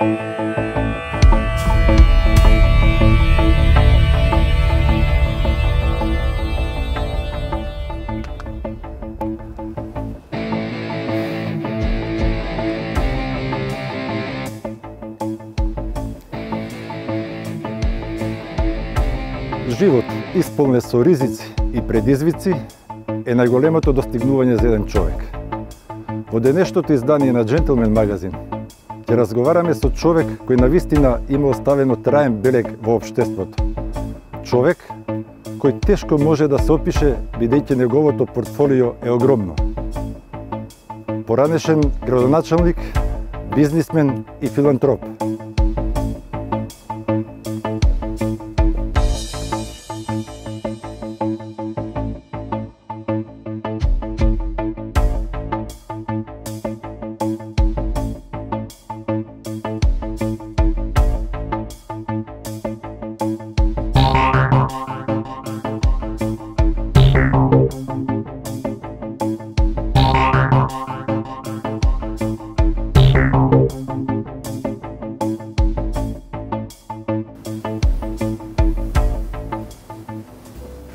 Живот исполнет со ризици и предизвици е најголемото достигнување за еден човек. Во денешното издание на Джентлмен магазин ќе разговараме со човек кој навистина има оставено траен белег во општеството. Човек кој тешко може да се опише бидејќи неговото портфолио е огромно. Поранешен градоначалник, бизнисмен и филантроп.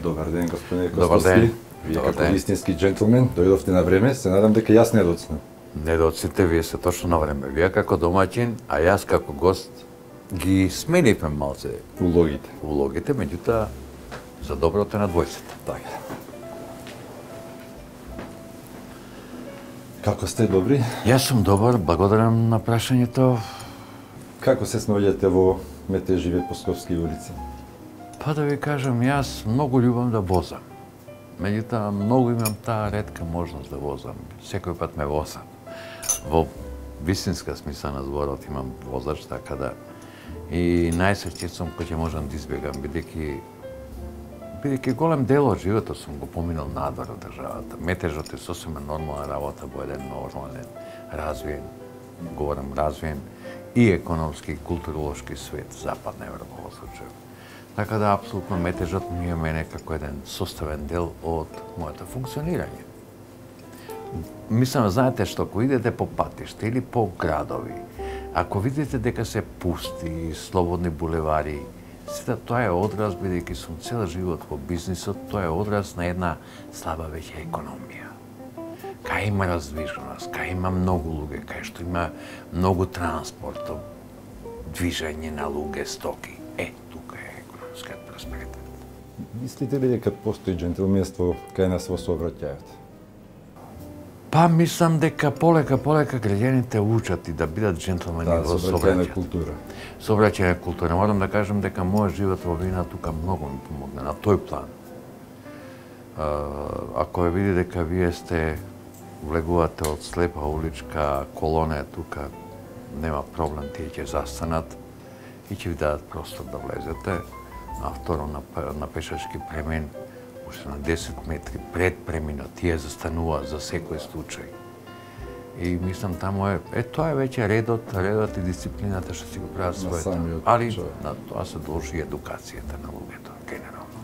Добар ден, господине Костовски. Вие како вистински джентлмен дојдовте на време, се надам дека јас не доцнам. Не доцните, вие се точно на време. Вие како домаќин, а јас како гост ги сменивме малце улогите, меѓутоа за доброто на двојцата. Така. Како сте, добри? Јас сум добар, благодарам на прашањето. Како се снаоѓате во метеживе Посковски улици? Па да ви кажам, јас многу љубам да возам. Меѓутоа, многу имам таа ретка можност да возам. Секој пат ме возам. Во вистинска смисла на зборот имам возач, така да и најсреќен сум кој ќе можам да избегам, бидејќи голем дел од животот сум го поминал надвор од државата. Метежот е сосема нормална работа во еден нормален, развиен, говорам развиен, и економски и културолошки свет, Западна Европа во случај. Така да, апсолутно, метежот ми е мене како еден составен дел од моето функционирање. Мислам, знаете што, ако идете по патиште или по градови, ако видите дека се пусти, слободни булевари, сета тоа е одраз, бидејќи сум цел живот во бизнисот, тоа е одраз на една слаба веќе економија. Кај има раздвиженост, кај има многу луѓе, кај што има многу транспорт, движење на луѓе, стоки. Тука е економскиот просперитет. Мислите ли дека постои джентлменство кај нас во сообраќајот? Па мислам дека полека граѓаните учат и да бидат джентлмени во сообраќајна култура. Сообраќајна култура. Морам да кажам дека мојот живот во Вина тука многу ми помогна на тој план. Ако ја види дека вие сте влегувате од слепа уличка колона тука, нема проблем, тие ќе застанат и ќе ви дадат простор да влезете. А второ, на пешачки премен, уште на 10 метри пред преминот, тие застануваат за секој случај. И мислам, таму тоа е веќе редот и дисциплината што си го прават своето. Али на тоа се должи едукацијата на луѓето, генерално.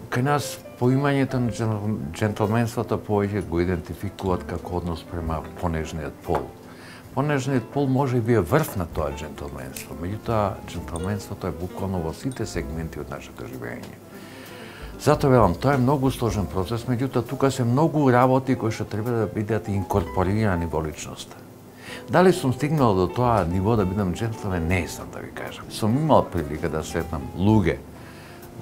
Кај нас поимањето на джентлменството повеќе го идентификуваат како однос према понежниот пол. Понежниот пол може би е врв на тоа джентлменство, меѓутоа джентлменството е буквално во сите сегменти од нашето живење. Затоа велам, тоа е многу сложен процес, меѓутоа тука се многу работи кои што треба да бидат инкорпорирани во личноста. Дали сум стигнал до тоа ниво да бидам джентлмен, не знам да ви кажам. Сум имал прилика да сретнам луѓе,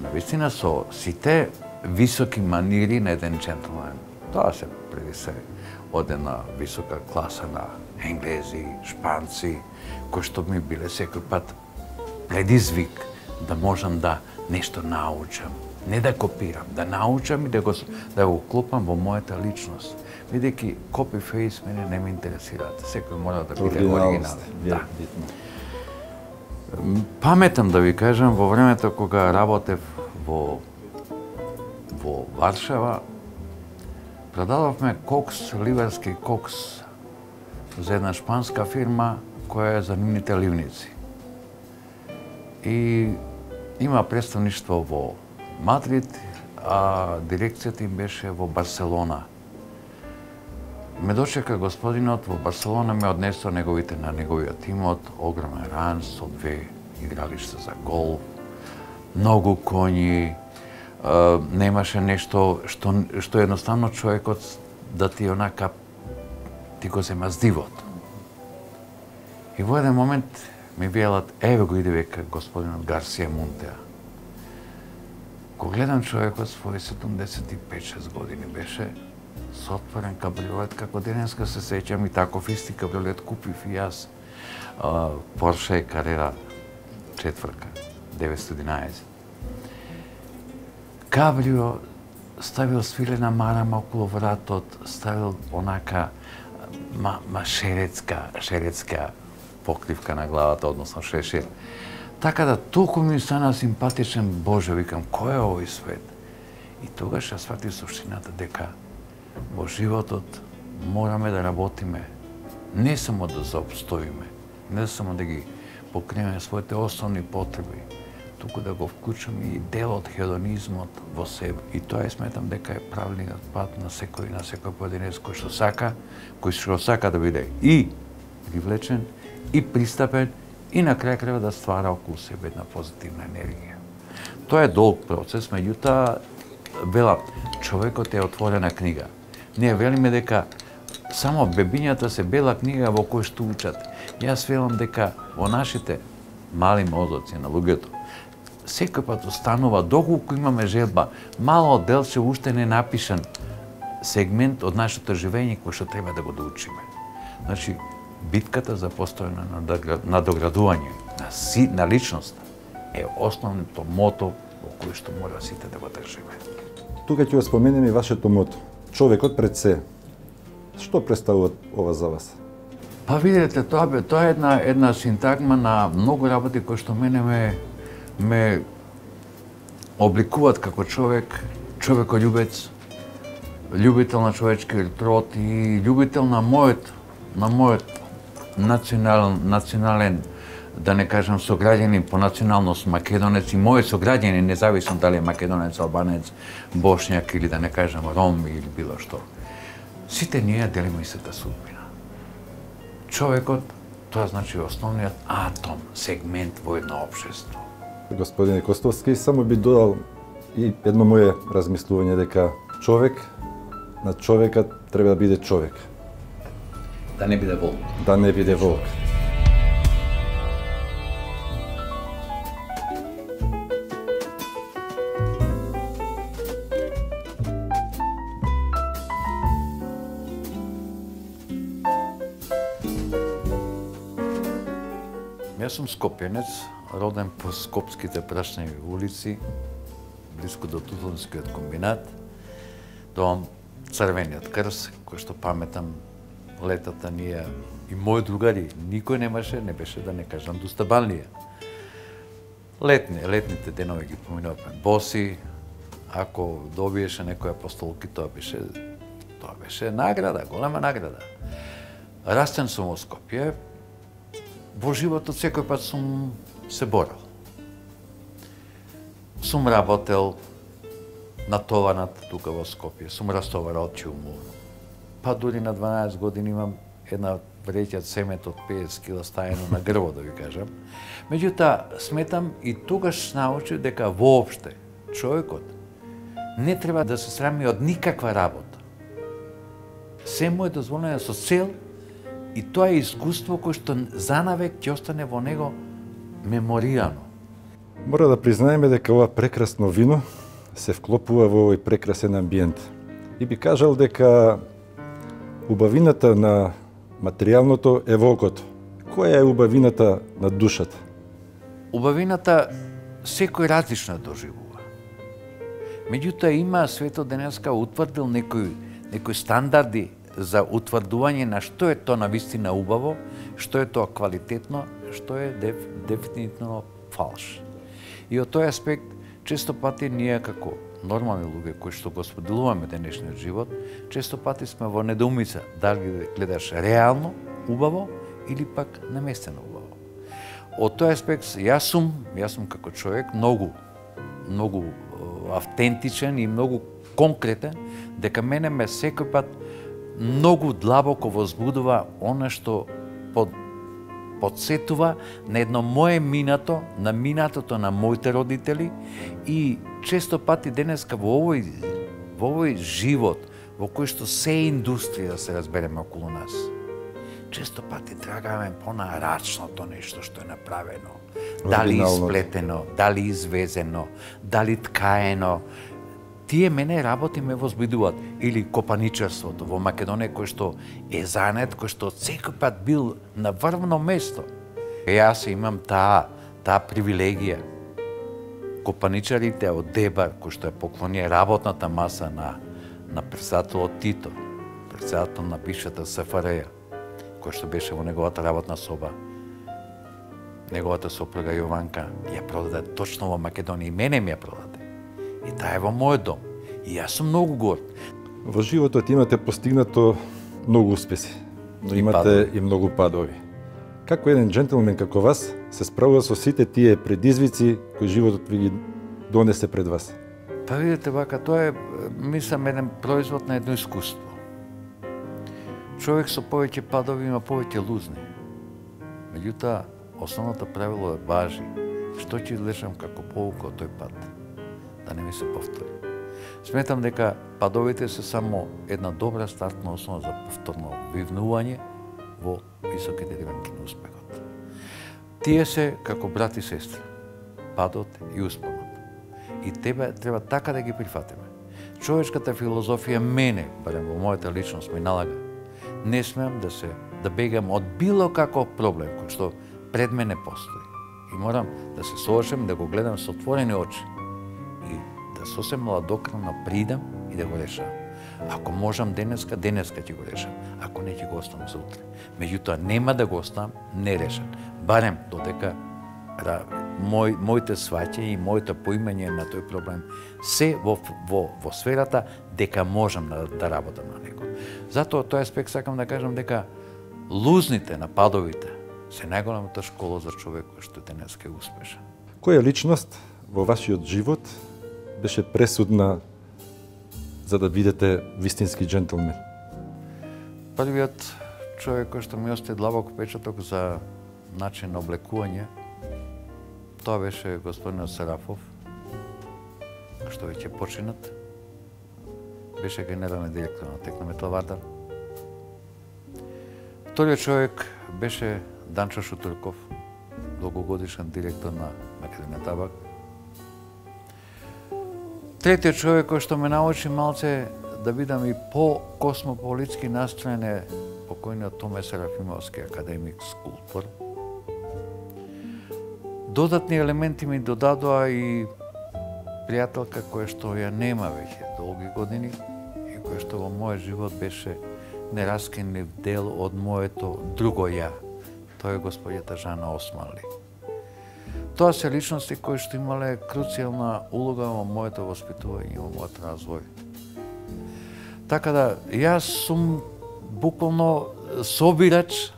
навистина со сите високи манири на еден джентлмен. Тоа се преди се од една висока класа на енглези, шпанци, кои што ми биле секој пат предизвик да можам да нешто научам. Не да копирам, да научам и да го клопам во мојата личност. Бидејќи копи-фейс мене не ме интересираат. Секој мора да биде оригинален. Да. Паметам да ви кажам, во времето кога работев во Варшава, продававме кокс, ливерски кокс за една шпанска фирма која е за нивните ливници. И има представништво во Мадрид, а дирекцијата им беше во Барселона. ме дочека господинот во Барселона, ме однесо на неговиот тимот, огромен ранч со 2 игралишта за голф, многу коњи, немаше нешто што едноставно човекот да ти онака ти го зема здивот. И во еден момент ми велат, еве го иде века господинот Гарсија Монтеа. Го гледам човекот, своји 75-6 години беше, со отворен кабриолет, како денеска се сеќам, и таков исти кабриолет купив и јас. Porsche Carrera 4, 911. Кабрио, ставил свилена марама околу вратот, ставил онака шеретска покривка на главата, односно шешир. Така да толку ми стана симпатичен, Боже, викам, кој е овој свет? И тогаш ја сватив суштината дека во животот мораме да работиме, не само да заобстоиме, не само да ги покриеме своите основни потреби, туку да го вклучиме и дел од хедонизмот во себе. И тоа сметам дека е правилниот пат на секој поединец кој што сака да биде и привлечен, и пристапен, и на крај крајот да ствара околу себе една позитивна енергија. Тоа е долг процес, меѓутоа, велам, човекот е отворена книга. Ние велиме дека само бебињата се бела книга во кој што учат. Јас велам дека во нашите мали мозоци на луѓето секој пат останува, доколку имаме желба, мало делче уште не напишан сегмент од нашето живење кој што треба да го доучиме. Значи, битката за постојано надоградување на личноста е основното мото во кој што мора сите да го држиме. Тука ќе го споменеме и вашето мото. Човекот пред се. Што представува ова за вас? Па видите, тоа е една синтагма на многу работи кои што мене ме обликуваат како човеколюбец, љубител на човечкиот род и љубител на мојот национален, да не кажам сограѓанин по националност македонец и мој сограѓанин, независно дали е македонец, албанец, бошњак или да не кажам ром или било што. Сите ние делиме истата судбина. Човекот, тоа значи основниот атом, сегмент во едно општество. Господине Костовски, само би додал и едно моје размислување дека на човекот треба да биде човек. Да не биде волк. Да не биде волк. Јас сум скопјанец, роден по скопските прашневи улици, близко до Тутунскиот комбинат, до Црвениот крст, кој што паметам летата ние и мои другари, никој не беше да не кажам достабалнија. Летните денови ги поминувавме боси, ако добиеше некоја постолки, тоа беше награда, голема награда. Растен сум во Скопје, во животот секој пат сум се борел. Сум работел натоварнат тука во Скопје, сум растоварал чуму. Па дури на 12 години имам една vreќа цемент од 50 кила стајано на грбот, да ви кажам. Меѓутоа, сметам и тогаш научив дека воопште човекот не треба да се срами од никаква работа. Се му е дозволено со цел и тоа е искуство кој што занавек ќе остане во него меморијано. Мора да признаеме дека ова прекрасно вино се вклопува во овој прекрасен амбиент. И би кажал дека убавината на материјалното е волкото. Која е убавината на душата? Убавината секој различно доживува. Меѓутоа има светот денеска утврдил некои стандарди за утврдување на што е тоа навистина убаво, што е тоа квалитетно, што е дефинитивно фалш. И од тој аспект, често пати ние како нормални луѓе кои што го споделуваме денешниот живот, често пати сме во недоумица дали гледаш реално убаво или пак наместено убаво. Од тој аспект јас сум како човек многу автентичен и многу конкретен, дека мене ме секој пат многу длабоко возбудува она што подсетува на едно мое минато, на минатото на моите родители и често пати денеска во овој живот во кој што се индустрија, да се разбереме околу нас. Често пати трагаме по нарачното нешто што е направено. Дали исплетено, дали извезено, дали ткаено. Тие мене работи ме возбудуваат. Или копаничарството во Македонија, кој што е занет, кој што секој пат бил на врвно место. Јас имам таа привилегија. Копаничарите од Дебар, кој што е поклонија работната маса на председателот Тито, председател на бившата СФРЈ, кој што беше во неговата работна соба, неговата сопруга Јованка ја продаде точно во Македонија и мене ми ја продаде. И таа е во мојот дом. И јас сум многу горд. Во животот имате постигнато многу успеси, но имате и многу падови. Како еден джентлмен како вас се справува со сите тие предизвици кои животот ви ги донесе пред вас? Па видите, вака, тоа е, мислам, еден производ на едно искуство. Човек со повеќе падови има повеќе лузни. Меѓутоа, основното правило е важи. Што ќе излечам како поука од тој пат? Да не ми се повтори. Сметам дека падовите се само една добра стартна основа за повторно вивнување во високите дивенки на успехот. Тие се како брат и сестри, падот и успонот. И треба така да ги прифатиме. Човечката филозофија мене, барем во мојата личност, ми налага. Не смеам да бегам од било каков проблем кој што пред мене постои. И морам да се соочам, да го гледам со отворени очи. И да сосем младокрвно придам и да го решам. Ако можам денеска ќе го решам. Ако не, ќе го оставам за утре. Меѓутоа, нема да го оставам нерешен. Барем додека моите сваќања и моето поимање на тој проблем се во сферата дека можам да работам на него. Затоа тој аспект сакам да кажам дека лузните на падовите се најголемата школа за човек кој што денес е успешен. Која личност во вашиот живот беше пресудна за да бидете вистински джентлмен? Првиот човек кој што ми остави длабок печаток за начин на облекување, тоа беше господинот Сарафов, што веќе починат. Беше генерален директор на Текна Металвардар. Вториот човек беше Данчо Шутурков, долгогодишен директор на Македонија Табак. Третиот човек кој што ме научи малце да бидам и по-космополитски настроен е покојниот Томе Серафимовски, академик, скулптор. Додатни елементи ми додадоа и пријателка која што ја нема веќе долги години и која што во мојот живот беше нераскинлив дел од моето друго ја. Тоа е господјата Жана Османли. Тоа се личности кои што имале круцијална улога во моето воспитување и во мојот развој. Така да, јас сум буквално собирач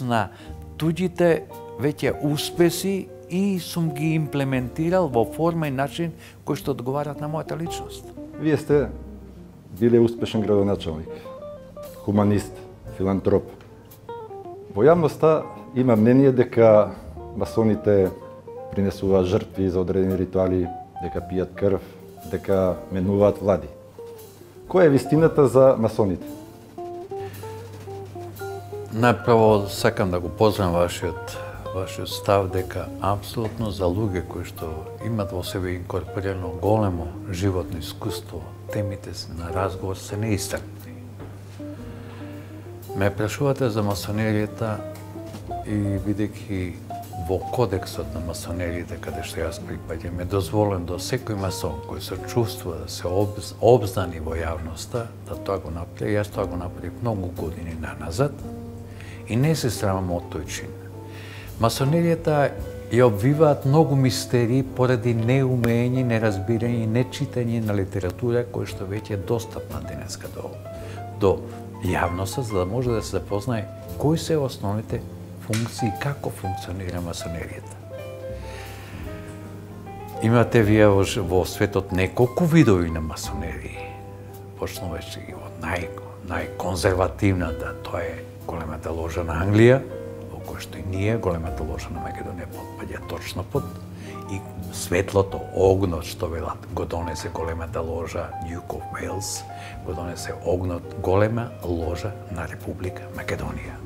на туѓите веќе успеси и сум ги имплементирал во форма и начин кои што одговарат на мојата личност. Вие сте биле успешен градоначалник, хуманист, филантроп. Во јавноста има мнение дека масоните принесуваат жртви за одредени ритуали, дека пијат крв, дека менуваат влади. Која е вистината за масоните? Најпрво сакам да го поздравам вашиот став дека апсолутно за луѓе кои што имат во себе инкорпорирано големо животно искуство, темите на разговор се неистакнати. Ме прашувате за масонеријата и бидејќи во кодексот на масонеријата каде што јас припаѓам е дозволен до секој масон кој се чувствува да се обзнани во јавноста да тоа го направи. Јас тоа го направив многу години наназад и не се срамам од тој чин. Масонеријата ја обвиваат многу мистерии поради неумење, неразбирање и нечитање на литература која што веќе е достапна денеска до јавноста, за да може да се запознае кои се основните функции и како функционира масонеријата. Имате вие во светот неколку видови на масонерии, почнувачи ги од најконзервативната, тоа е големата ложа на Англија, во која што и ние, големата ложа на Македонија потпаѓа точно под, и светлото, огнот, што велат, го донесе големата ложа Duke of Wales, го донесе огнот, голема ложа на Република Македонија.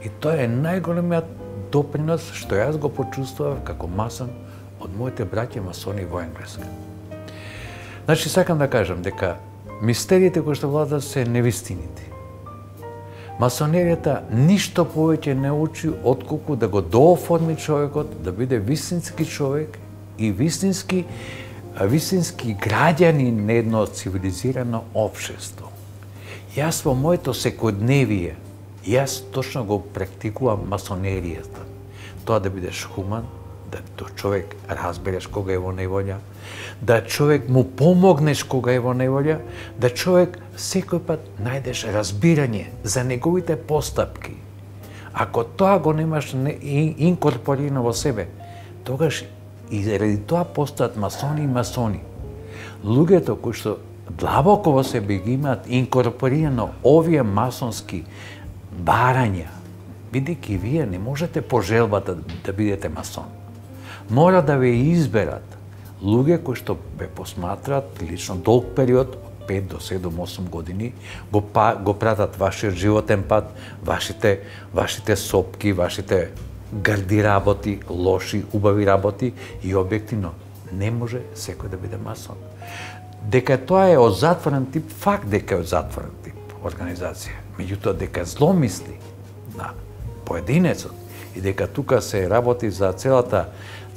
И тоа е најголемиот допринос што јас го почувствував како масон од моите браќа масони во Енглеска. Значи, сакам да кажам дека мистериите кои што владат се невистините. Масонеријата ништо повеќе не учи отколку да го дооформи човекот, да биде вистински човек и вистински граѓанин на едно цивилизирано општество. Јас во моето секојдневие, јас точно го практикувам масонеријата. Тоа да бидеш хуман, да човек разбереш кога е во неволја, да човек му помогнеш кога е во неволја, да човек секој пат најдеш разбирање за неговите постапки. Ако тоа го немаш инкорпорирано во себе, тогаш и заради тоа постаат масони и масони. Луѓето кои што длабоко во себе ги имаат инкорпорирано овие масонски барања, бидејќи вие не можете по желбата да бидете масон. Мора да ве изберат луѓе кои што ве посматрат прилично долг период, од 5 до 7, 8 години, го пратат вашиот животен пат, вашите сопки, вашите гарди работи, лоши, убави работи и објективно не може секој да биде масон. Дека тоа е од затворен тип, факт дека е од затворен тип организација, меѓутоа дека зломисли на поединецот и дека тука се работи за целата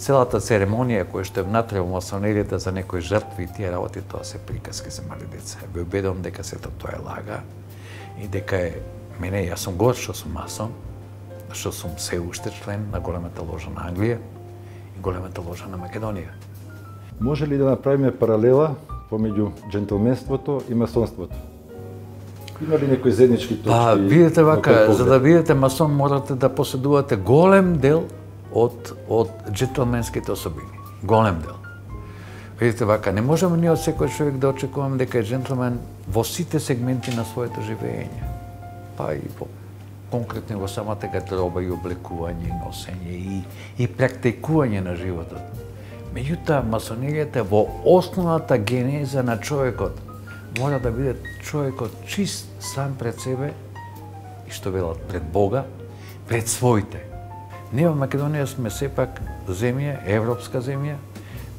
церемонија која што е внатре во масонеријата за некои жртви и тие работи, тоа се приказки за мали деца. Ве убедувам дека сето тоа е лага и дека е мене, јас сум горд што сум масон, што сум се уште член на големата ложа на Англија и големата ложа на Македонија. Може ли да направиме паралела помеѓу джентлменството и масонството? Има ли некои заеднички точки? Видите вака, за да бидете масон морате да поседувате голем дел од джентлменските особини. Голем дел. Видите вака, не можеме ние од секој човек да очекуваме дека е джентлмен во сите сегменти на своето живење. Па и конкретно во самата гардероба и облекување, и носење, и практикување на животот. Меѓутоа, масонеријата во основната генеза на човекот мора да биде човекот чист сам пред себе и што велат пред Бога, пред своите. Ние во Македонија сме сепак земја, европска земја,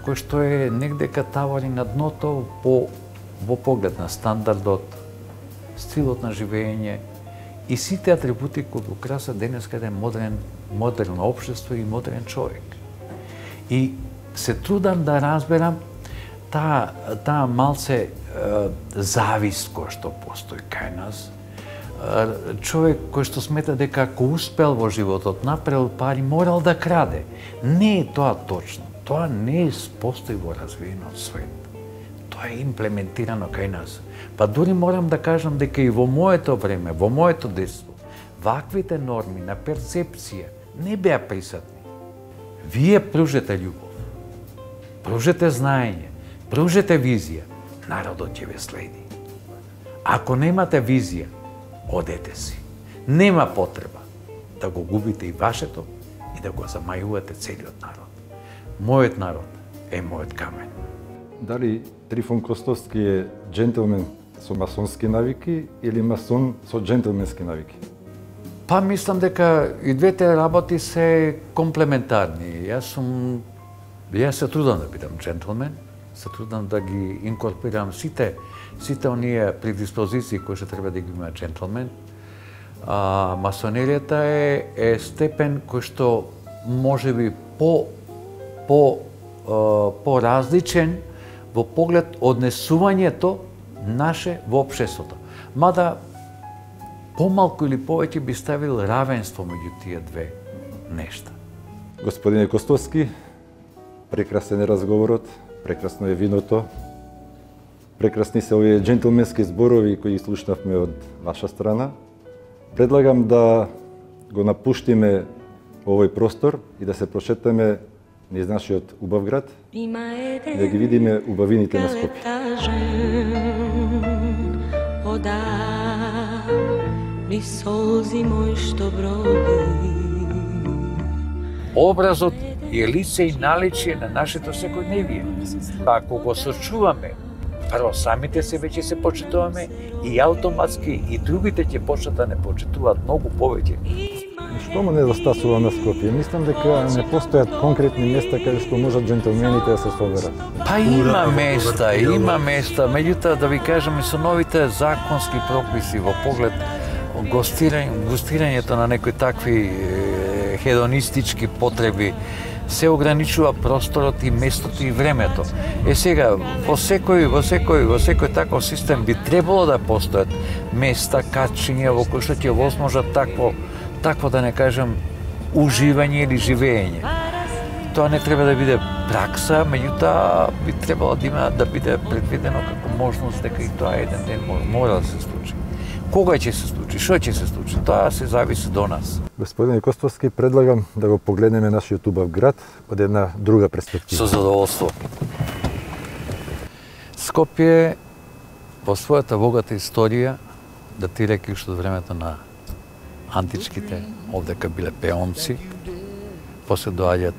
која што е негдека тавари на дното во поглед на стандардот, стилот на живење и сите атрибути кои го красат денеска еден модерно општество и модерен човек. И се трудам да разберам таа малце завист која што постои кај нас. Човек кој што смета дека ако успел во животот, направил пари, морал да краде. Не е тоа точно. Тоа не постои во развиенот свет. Тоа е имплементирано кај нас. Па дури морам да кажам дека и во моето време, во моето детство, ваквите норми на перцепција не беа присутни. Вие пружете љубов, пружете знаење, пружете визија, народот ќе ве следи. Ако немате визија, одете си. Нема потреба да го губите и вашето и да го замајувате целиот народ. Мојот народ е мојот камен. Дали Трифон Костовски е джентлмен со масонски навики или масон со джентлменски навики? Па мислам дека и двете работи се комплементарни. Јас се трудам да бидам джентлмен, се трудам да ги инкорпорирам сите оние предиспозиции кои што треба да ги има джентлмен. Масонеријата е степен кој што можеби по-различен во поглед однесувањето наше во општеството. Мада помалку или повеќе би ставил равенство меѓу тие две нешта. Господине Костовски, прекрасен е разговорот, прекрасно е виното, прекрасни се овие джентлменски зборови кои слушнавме од ваша страна. Предлагам да го напуштиме овој простор и да се прошетаме низ нашиот убав град и да ги видиме убавините на Скопје. Ни солзи мој што броди. Образот е лице и наличие на нашето секојдневие. Ако го сочуваме, прво самите се веќе се почитуваме и автоматски и другите ќе почнат да не почитуваат многу повеќе. Што му недостасува на Скопје? Мислам дека не постојат конкретни места каде што можат джентелмените да се соберат. Па има места, меѓутоа да ви кажам и со новите законски прописи во поглед гостирањето на некои такви хедонистички потреби се ограничува просторот и местото и времето. Сега во секој таков систем би требало да постојат места, качиња во кои што ќе возможат такво да не кажам уживање или живење. Тоа не треба да биде пракса, меѓутоа би требало да биде предвидено како можност дека и тоа еден ден мора да се случи. Кога ќе се случи, што ќе се случи, тоа се зависи до нас. Господин Костовски, предлагам да го погледнеме нашиот убав град од една друга перспектива. Со задоволство. Скопје во својата богата историја датирајќи уште од времето на античките, овдека биле пеонци, после доаѓаат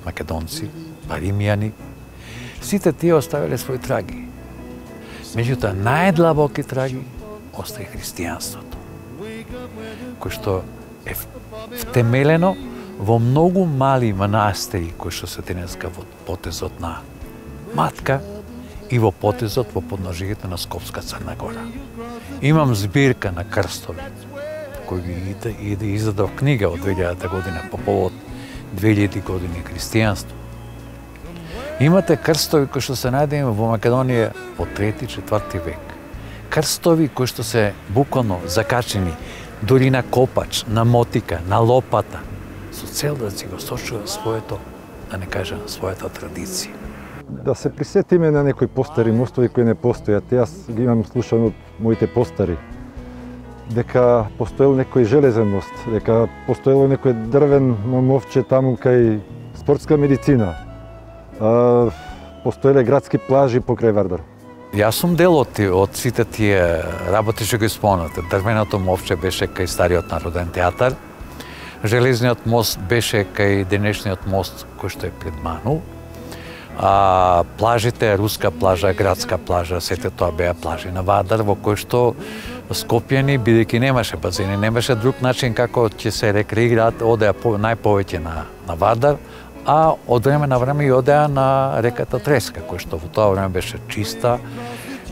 македонци, па римјани. Сите тие оставиле своји траги. Меѓутоа, најдлабоки траги остаи христијанството, кој што е втемелено во многу мали манастири кои што се денеска во потезот на Матка и во потезот во подножието на Скопска Црна Гора. Имам збирка на крстови кој ги издадов книга од 2000 година по повод 2000 години христијанство. Имате крстови кои што се најдени во Македонија во 3-4 век. Крстови кои што се буквално закачени дури на копач, на мотика, на лопата, со цел да си го сочува своето, да не кажам, својата традиција. Да се присетиме на некои постари мостови кои не постојат. Јас ги имам слушано од моите постари. Дека постоел некој железен мост, дека постоело некој дрвен мовче таму кај спортска медицина. Постоеле градски плажи покрај Вардар. Јас сум дел од сите тие работи што ги спомнате. Дрвеното мовче беше кај стариот народен театар. Железниот мост беше кај денешниот мост кој што е пред Ману. Плажите, руска плажа, градска плажа, сете тоа беа плажи на Вардар, во кој што скопјани, бидејќи немаше базени, немаше друг начин како ќе се рекреираат, одеа најповеќе на Вардар, а од време на време и одеа на реката Треска, која што во тоа време беше чиста.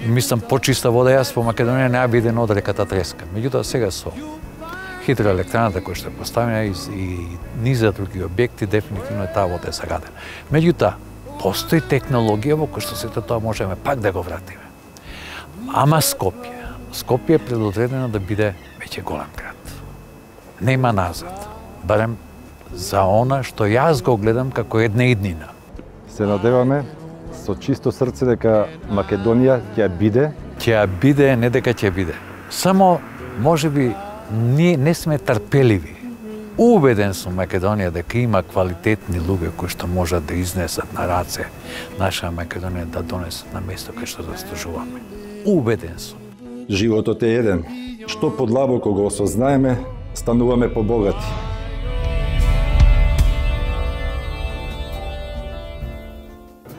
Мислам, почиста вода јас во Македонија не ја виден од реката Треска. Меѓутоа сега со хидроелектраната која што е поставена и низа други објекти, дефинитивно е таа вода е загадена. Меѓутоа, постои технологија во која што сето тоа можеме пак да го вратиме. Ама Скопје е предодредено да биде веќе голем град. Нема назад. Барем за она што јас го гледам како една иднина. Се надеваме со чисто срце дека Македонија ќе биде. Ќе биде, не дека ќе биде. Само, можеби, ние не сме трпеливи. Убеден сум Македонија дека има квалитетни луѓе кои што можат да изнесат на раце наша Македонија да донесат на место кај што заслужуваме. Убеден сум. Животот е еден. Што подлабоко го осознаеме, стануваме побогати.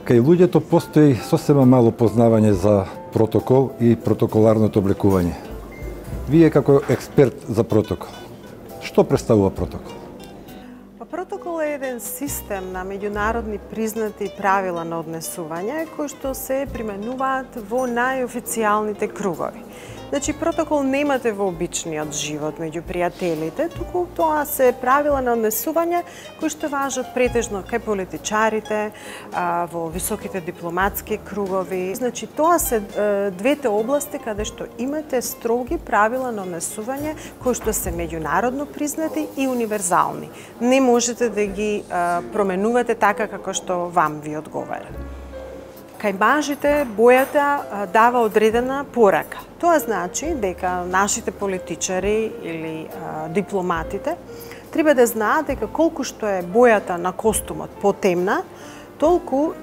Кај луѓето постои сосема мало познавање за протокол и протоколарното облекување. Вие како експерт за протокол, што представува протокол? Протокол е еден систем на меѓународни признати правила на однесување кои што се применуваат во најофицијалните кругови. Значи, протокол немате во обичниот живот меѓу пријателите, туку тоа се правила на однесување кои што важат претежно кај политичарите, во високите дипломатски кругови. Значи, тоа се двете области каде што имате строги правила на однесување кои што се меѓународно признати и универзални. Не можете да ги променувате така како што вам ви одговара. Кај мажите бојата дава одредена порака. Тоа значи дека нашите политичари или дипломатите треба да знаат дека колку што е бојата на костумот потемна, толку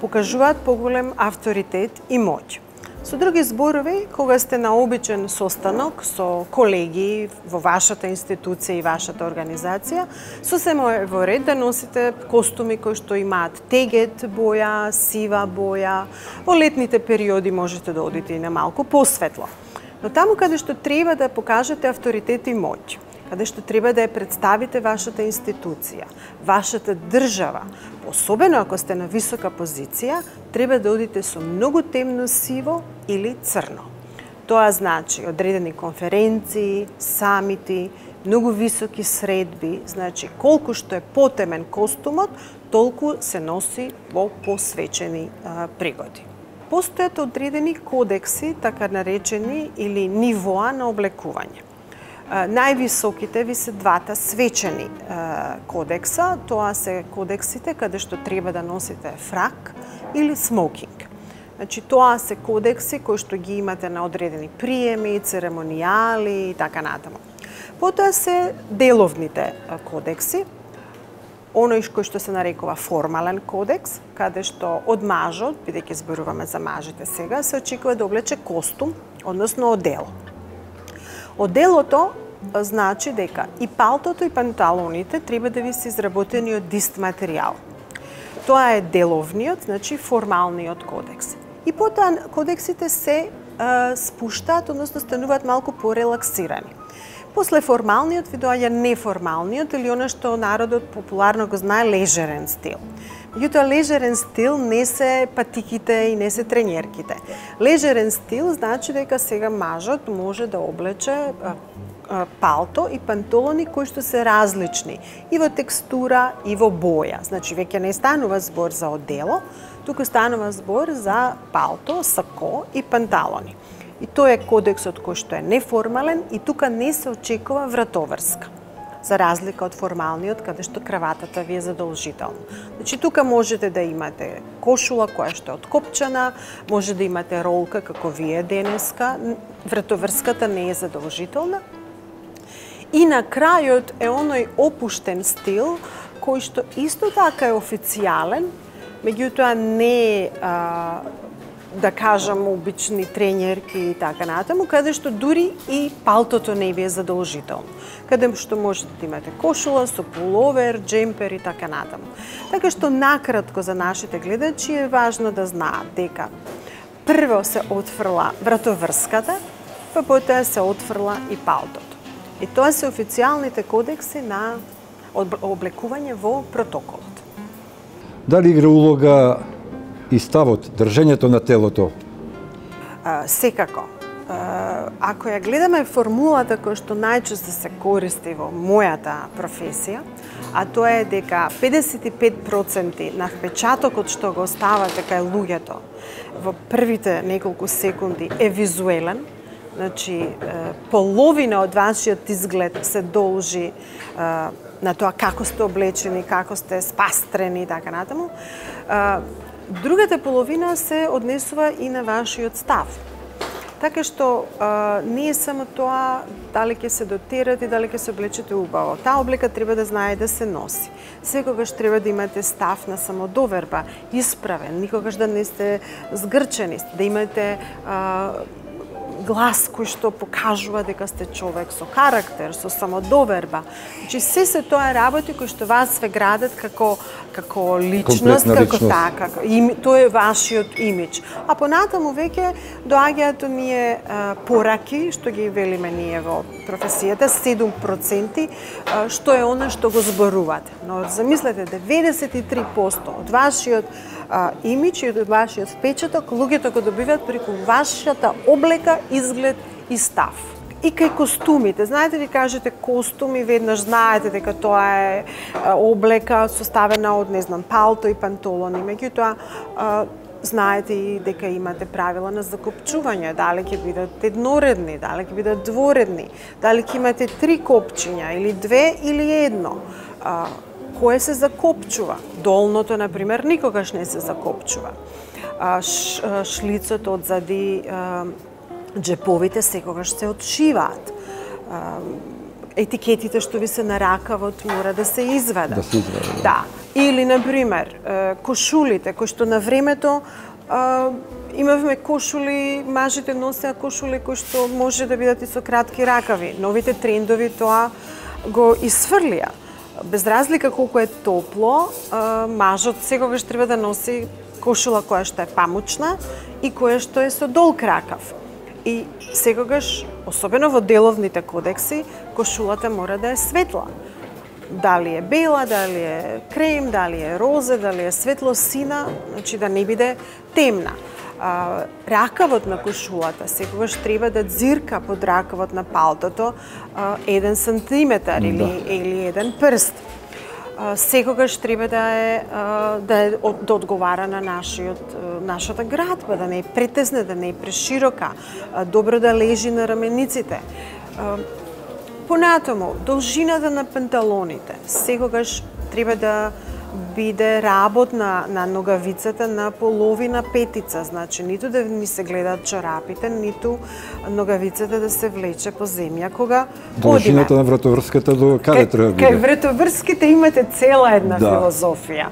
покажуваат поголем авторитет и моќ. Со други зборови, кога сте на обичен состанок со колеги во вашата институција и вашата организација, сосема е во ред да носите костуми кои што имаат тегет боја, сива боја. Во летните периоди можете да одите и на малку посветло. Но таму каде што треба да покажете авторитет и моќ, каде што треба да ја представите вашата институција, вашата држава, особено ако сте на висока позиција, треба да одите со многу темно сиво или црно. Тоа значи одредени конференции, самити, многу високи средби, значи колку што е потемен костумот, толку се носи во посвечени пригоди. Постојат одредени кодекси, така наречени, или нивоа на облекување. Највисоките ви се двата свечени кодекса, тоа се кодексите каде што треба да носите фрак или смокинг. Значи, тоа се кодекси кои што ги имате на одредени приеми, церемонијали и така натаму. Потоа се деловните кодекси, оној кој што се нарекува формален кодекс, каде што од мажот, бидејќи зборуваме за мажите сега, се очекува да облече костум, односно одело. Оделото значи дека и палтото и панталоните треба да ви се изработени од ист материјал. Тоа е деловниот, значи формалниот кодекс. И потоа кодексите се спуштаат, односно стануваат малку порелаксирани. После формалниот ви доаѓа неформалниот или она што народот популарно го знае лежерен стил. Меѓутоа, лежерен стил не се патиките и не се тренерките. Лежерен стил значи дека сега мажот може да облече палто и панталони кои што се различни и во текстура и во боја. Значи, веќе не станува збор за одело, туку станува збор за палто, сако и панталони. И тоа е кодексот кој што е неформален и тука не се очекува вратоврска, за разлика од формалниот, каде што краватата ви е задолжителна. Значи, тука можете да имате кошула која што е откопчана, може да имате ролка како вие денеска, вратоврската не е задолжителна. И на крајот е оној опуштен стил, кој што исто така е официјален, меѓутоа не е да кажам, обични тренерки и така натаму, каде што дури и палтото не ви е задолжително. Каде што можете да имате кошула со пуловер, джемпер и така натаму. Така што накратко за нашите гледачи е важно да знаат дека прво се отфрла вратоврската, па потоа се отфрла и палтото. И тоа се официјалните кодекси на облекување во протоколот. Дали игра улога и ставот, држењето на телото? Секако. Ако ја гледаме формулата која што најчесто се користи во мојата професија, а тоа е дека 55% на впечатокот што го оставате кај луѓето во првите неколку секунди е визуелен, значи половина од вашиот изглед се должи на тоа како сте облечени, како сте спастрени и така натаму. Другата половина се однесува и на вашиот став. Така што не е само тоа дали ќе се дотерате, дали ќе се облечете убаво. Таа облека треба да знае да се носи. Секогаш треба да имате став на самодоверба, исправен, никогаш да не сте згрчени, да имате глас кој што покажува дека сте човек со карактер, со самодоверба. Значи, се тоа работи кои што вас ве градат како личност, како така. Тоа е вашиот имидж. А понатаму веќе доаѓаат оние пораки, што ги велиме ние во професијата, 7%, што е она што го зборувате. Но замислете, 93% од вашиот имидж и од вашиот впечаток луѓето го добиваат преку вашата облека, изглед и став. И кај костумите, знаете, ви кажете костум и веднаш знаете дека тоа е облека составена од, не знам, палто и панталони. Меѓутоа, знаете и дека имате правила на закопчување, дали ќе бидат едноредни, дали ќе бидат дворедни, дали ќе имате 3 копчиња или 2 или 1. Кое се закопчува? Долното, например, никогаш не се закопчува. Шлицото одзади, джеповите секогаш се отшиваат. Етикетите што ви се на ракавот мора да се извадат. Да се извадат. Да. Или, например, кошулите, кои што на времето Имавме кошули, мажите носеа кошули кои што може да бидат и со кратки ракави. Новите трендови тоа го исфрлија. Без разлика колку е топло, мажот секогаш треба да носи кошула која што е памучна и која што е со долг ракав. И секогаш, особено во деловните кодекси, кошулата мора да е светла. Дали е бела, дали е крем, дали е розе, дали е светло сина, значи да не биде темна. Ракавот на кошулата секогаш треба да дзирка под ракавот на палтото 1 сантиметар или 1 прст. Секогаш треба да одговара на нашата градба, да не е претесна, да не е преширока, добро да лежи на рамениците. Понатаму, должината на панталоните секогаш треба да биде работна на ногавицата на половина петица, значи ниту да ни се гледаат чорапите, ниту ногавицата да се влече по земја кога должината на вратоврската до каде треба биде? Кај вратоврските имате цела една филозофија.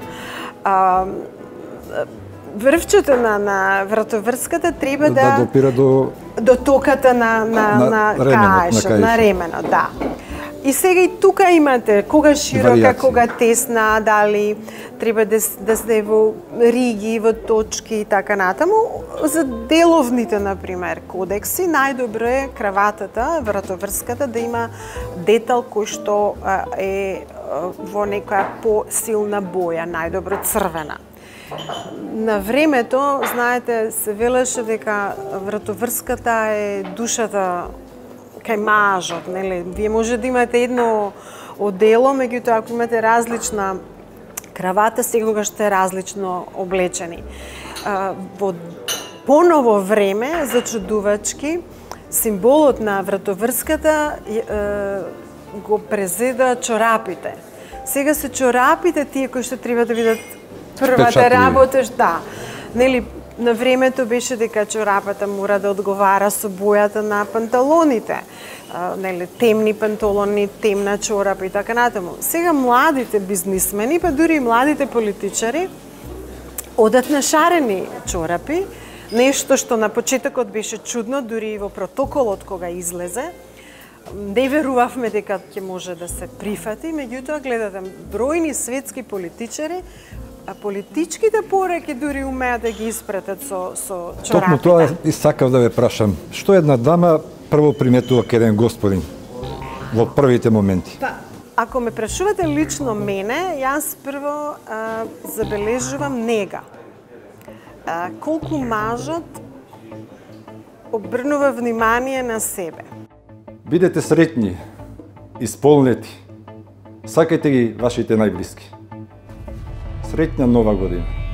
Врвчето на вратоврската треба да допира до токата на каешот, на ременот, да. И сега и тука имате кога широка, кога тесна, дали треба да се во риги, во точки и така натаму. За деловните, например, кодекси, најдобро е краватата, вратоврската, да има детал кој што е во некоја посилна боја, најдобро црвена. На времето, знаете, се велеше дека вратоврската е душата кај мажот, нели? Вие може да имате едно одело, меѓутоа ако имате различна кравата, секогаш сте различно облечени. Во поново време, зачудувачки, символот на вратоврската го презеда чорапите. Сега се чорапите тие кои што треба да бидат првата работа, да. Нели, на времето беше дека чорапата мора да одговара со бојата на панталоните. Нели, темни панталони, темна чорапа и така натаму. Сега младите бизнисмени, па дури и младите политичари, одат на шарени чорапи, нешто што на почетокот беше чудно, дури и во протоколот кога излезе. Не верувавме дека ќе може да се прифати, меѓутоа гледате бројни светски политичари, а политичките пораки дури умеат да ги испратат со чорапите. Токму тоа и сакав да ве прашам. Што една дама прво приметува кај еден господин во првите моменти? Па, ако ме прашувате лично мене, јас прво забележувам нега. Колку мажот обрнува внимание на себе. Бидете среќни, исполнети. Сакајте ги вашите најблиски. Среќна нова година!